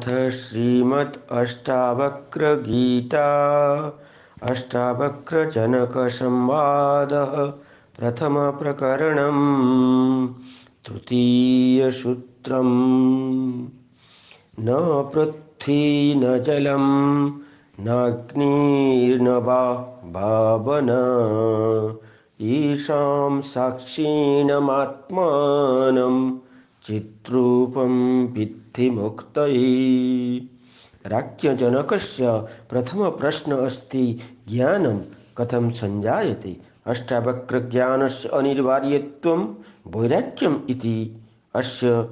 अथ श्रीमद् अष्टावक्रगीता अष्टावक्रजनकसंवादः प्रथमप्रकरणम् तृतीयसूत्रम्। न पृथ्वी न जलं नाग्निर्न वा भावना ईशां साक्षिणमात्मानं चिद्रूपं विद्धि मुक्तये। राज्ञजनकस्य प्रथमप्रश्न अस्ति ज्ञानं कथं संजायते। अष्टावक्रज्ञानस्य अनिवार्यत्वं वैराग्यम् इति। अस्य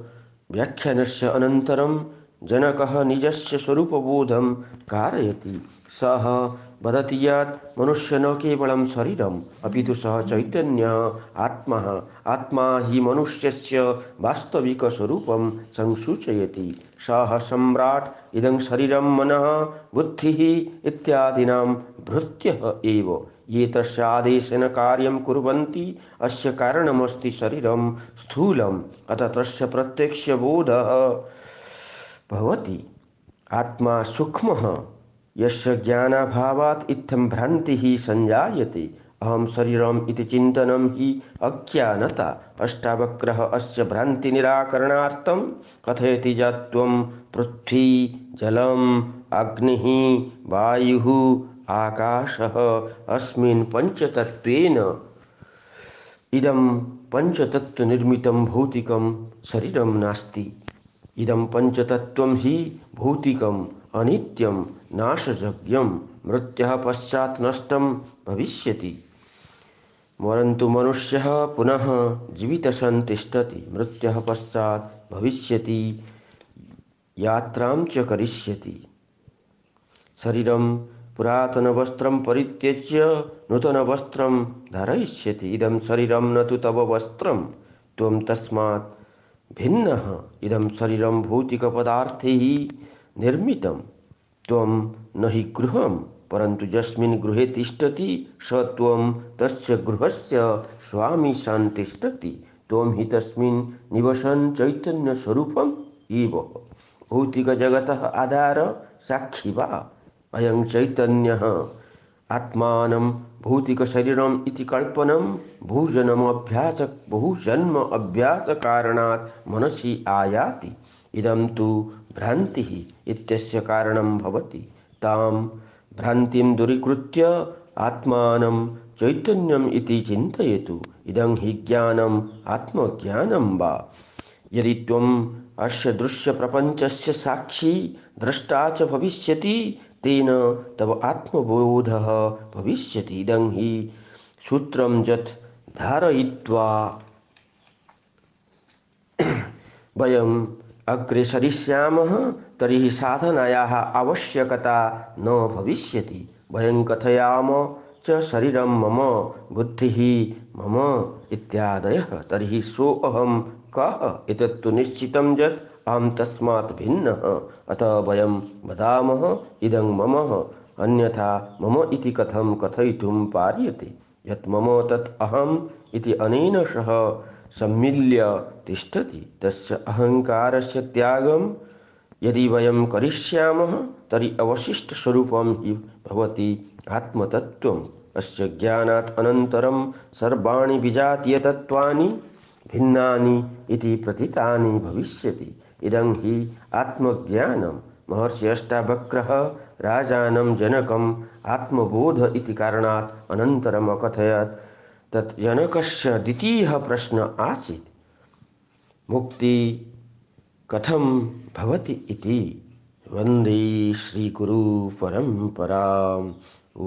व्याख्यानस्य अनन्तरं जनकः निजस्य स्वरूपबोधं कारयति। सः वदति यत् मनुष्य न केवलं शरीरम् अपितु सः चैतन्यः आत्मा। आत्मा हि मनुष्यस्य वास्तविकस्वरूपं संसूचयति। सः सम्राट् इदं शरीरं मनः बुद्धिः इत्यादीनां भृत्यः एव ये तस्य आदेशेन कार्यं कुर्वन्ति। अस्य कारणमस्ति शरीरं स्थूलम् अतः तस्य प्रत्यक्षबोधः भवति। आत्मा सूक्ष्मः यस्य ज्ञानाभावात् इत्थं भ्रान्तिः संजायते। अहं शरीरम् इति चिन्तनं हि अज्ञानता। अष्टावक्रः अस्य भ्रान्तिनिराकरणार्थं कथयति यत् त्वं पृथ्वी जलम् अग्निः वायुः आकाशः अस्मिन् पञ्चतत्त्वेन इदं पञ्चतत्त्वनिर्मितं भौतिकं शरीरं नास्ति। इदं पञ्चतत्त्वं हि भौतिकम् अनित्यं नाशयोग्यं मृत्युः पश्चात् नष्टं भविष्यति। परन्तु मनुष्यः पुनः जीवितः सन् तिष्ठति। मृत्युः पश्चात् भविष्यति यात्रां च करिष्यति। शरीरं पुरातनवस्त्रं परित्यज्य नूतनवस्त्रं धारयिष्यति। इदं शरीरं न तु तव वस्त्रं त्वं तस्मात् भिन्नः। इदं शरीरं भौतिकपदार्थैः निर्मितं। त्वं न हि गृहं परन्तु यस्मिन् गृहे तिष्ठति स त्वं तस्य गृहस्य स्वामी सन् तिष्ठति। त्वं हि तस्मिन् निवसन् चैतन्यस्वरूपम् एव। भौतिकजगतः आधार साक्षी वा अयं चैतन्यः। आत्मानं भौतिकशरीरम् इति कल्पनं बहुजन्म अभ्यासकारणात् मनसि आयाति। इदं तु भ्रान्तिः इत्यस्य कारणं भवति। तां भ्रान्तिं दूरीकृत्य आत्मानं चैतन्यम् इति चिन्तयतु। इदं हि ज्ञानम् आत्मज्ञानं वा। यदि त्वम् अस्य दृश्यप्रपञ्चस्य साक्षी द्रष्टा च भविष्यति तेन तव आत्मबोधः भविष्यति। इदं हि सूत्रं यत् धारयित्वा वयम् अग्रे सरिष्यामः तर्हि साधनायाः आवश्यकता न भविष्यति। वयं कथयाम च शरीरं मम बुद्धिः मम इत्यादयः तर्हि सोऽहं कः एतत्तु निश्चितं यत् अहं तस्मात् भिन्नः। अतः वयं वदामः इदं मम अन्यथा मम इति कथं कथयितुं पार्यते। यत् मम तत् अहम् इति अनेन सह सम्मिल्य तिष्ठति। तस्य अहङ्कारस्य त्यागं यदि वयं करिष्यामः तर्हि अवशिष्टस्वरूपं हि भवति आत्मतत्त्वम्। अस्य ज्ञानात् अनन्तरं सर्वाणि विजातीयतत्त्वानि भिन्नानि इति प्रतीतानि भविष्यति। इदं हि आत्मज्ञानं। महर्षि अष्टावक्रः राजानं जनकम् आत्मबोध इति कारणात् अनन्तरम् अकथयत्। तत् जनकस्य द्वितीयः प्रश्नः आसीत् मुक्ति कथं भवति इति। वन्दे श्रीगुरु परम्पराम्। ॐ